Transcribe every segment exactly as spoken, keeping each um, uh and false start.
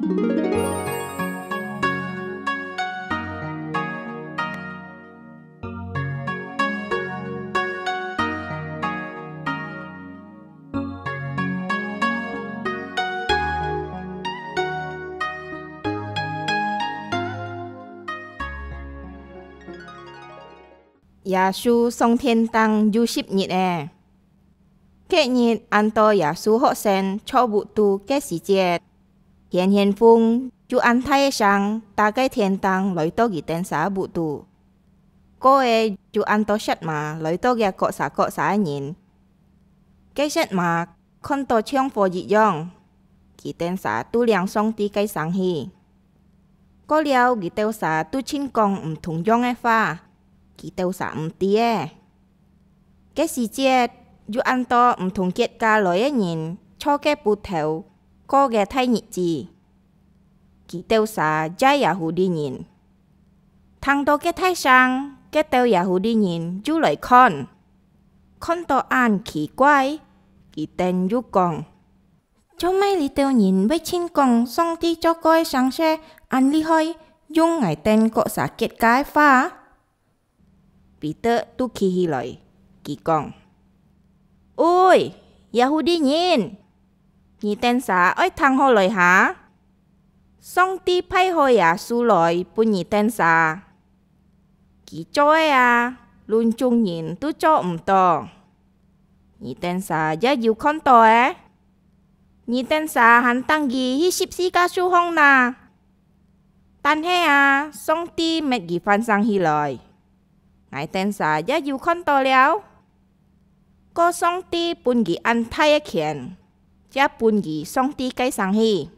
耶穌上天頂有十日咧。該日，恁多耶穌學生坐屋肚个時節，天天風就恁大个聲打該天頂來到佢等儕屋肚。過仔就恁多舌嫲來到這各儕各儕个人。該舌嫲看到像火一樣，佢等儕都領上帝个聲去。過了，佢兜儕都盡講毋同樣个話，佢兜儕毋知仔。該時節，有恁多毋同國家來个人坐該晡頭過个大日子，佢兜儕也係耶戶利人。聽到該大聲，該兜耶戶利人就來看，看到恁奇怪，佢等又講：「做麼个這兜人會盡講上帝做過个聲勢恁厲害，用𠊎等各儕國家个話？」彼得就企起來，佢講：「喂，耶戶利人，你等儕愛聽好來哈！上帝派好耶穌來分你等儕。佢做个啊，論眾人都做毋到。你等儕也有看到仔。你等儕還釘佢去十字架樹項哪！但係啊，上帝搣佢翻生起來，𠊎等儕也有看到了。過上帝分佢恁大个權，也分佢上帝个聲去。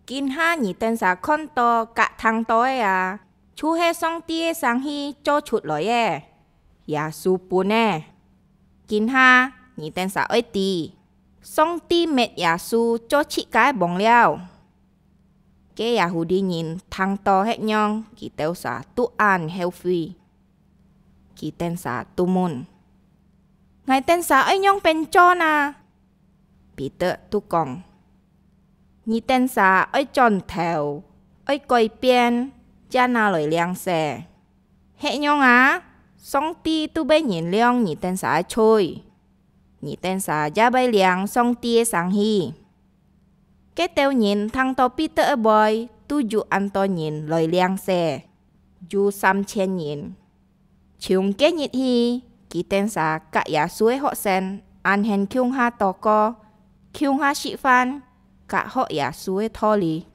今下你等儕看到佮聽到个啊，就係上帝个聲去做出來个，耶穌分个。今下你等儕愛知，上帝搣耶穌做自家个王了。」該耶戶利人聽到歇仰，佢兜儕都恁後悔。佢等儕都問：「𠊎等儕愛仰般做哪？」彼得就講：「你等儕愛轉頭，愛改變，正拿來領洗。 係仰啊，上帝都會原諒你等儕个罪，你等儕也會領上帝个聲去。」該兜人聽到彼得个話，都有恁多人來領洗，有三千人。從該日起，佢等儕佮耶穌个學生恁興共下禱告，共下食飯，佮學耶穌个道理。